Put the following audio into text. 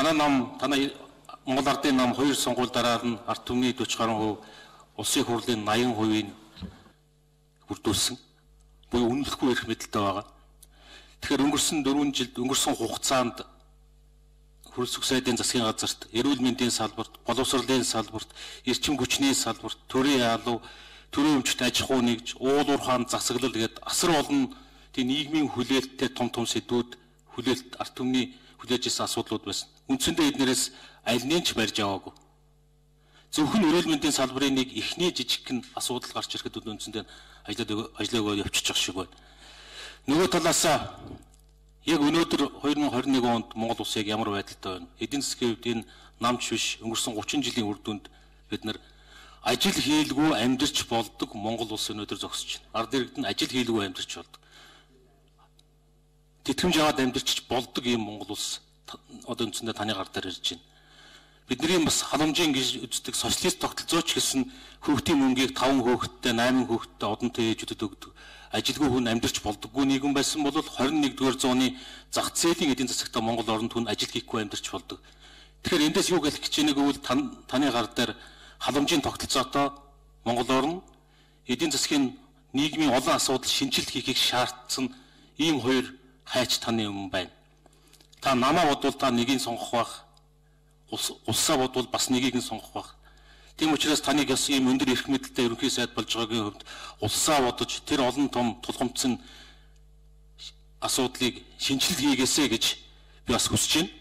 Танай Монгол Ардын нам 2 сонгуул дараа нь ард түмний 40 гаруй хувь улсын хурлын 80%-ийг бүрдүүлсэн. Буюу үнэлэхгүй эрх мэдэлтэй байгаа. Тэгэхээр өнгөрсөн 4 жилд өнгөрсөн хугацаанд хөрөлсөх сайдын засгийн газарт, эрүүл мэндийн салбарт, боловсролын салбарт, эрчим хүчний салбарт, төрийн ялуу, төрийн өмчт аж ахуй нэгж, уул уурхаан засаглал гээд асар олон тийм нийгмийн хүлээлттэй том сэдвүүд хүлээлт ард түмний хүлээж ирсэн асуудлууд байсан. Үндсэндээ эднэрээс аль нь ч барьж аваагүй. Зөвхөн эрүүл мэндийн салбарын нэг ихний жижигхэн асуудал гарч ирэхэд үндсэндээ ажиллаагаа явчихж байгаа шиг байна. Нөгөө талаас яг өнөөдөр 2021 онд Монгол улс яг ямар байдалтай байна? Эдийн засгийн хувьд энэ намч биш өнгөрсөн 30 жилийн үр дүнд бид нар ажил хийлгүй амьдарч болдог Монгол улс өнөөдөр зогсож байна. Ард иргэд нь ажил хийлгүй амьдарч болдог. Тэтгэмж аваад амьдарч болдог ийм Монгол улс одоо үндсэндээ таны гар дээр ирж байна. Бидний бас халамжийн гэж үздэг социалист тогтолцооч гэсэн хүүхдийн мөнгийг 5 хүүхэдтэй 8 хүүхэдтэй одонтой ээжүүдэд өгдөг. Ажилгүй хүн амьдарч болдоггүй нийгэм байсан бол 21-р зууны зах зээлийн эдийн засагта Монгол оронд хүн ажил хийхгүй амьдарч болдог. Тэгэхээр эндээс юу хэлэх гэж байгааг бол таны гар дээр халамжийн тогтолцоотой Монгол орн эдийн засгийн нийгмийн олон асуудал шинжилт хийхийг шаардсан ийм хоёр хайч таны өмнө байна. Та намаа бодвол та нэгийг сонгох байх. Улсаа бодвол бас нэгийг нь сонгох байх. Тийм учраас таныг бас ийм өндөр эрх мэдэлтэй ерөнхий сайд болж байгаагийн хувьд улсаа бодож тэр олон том тулгамдсан асуудлыг шинжилгээ хийгээсэй гэж би бас хүсэж байна.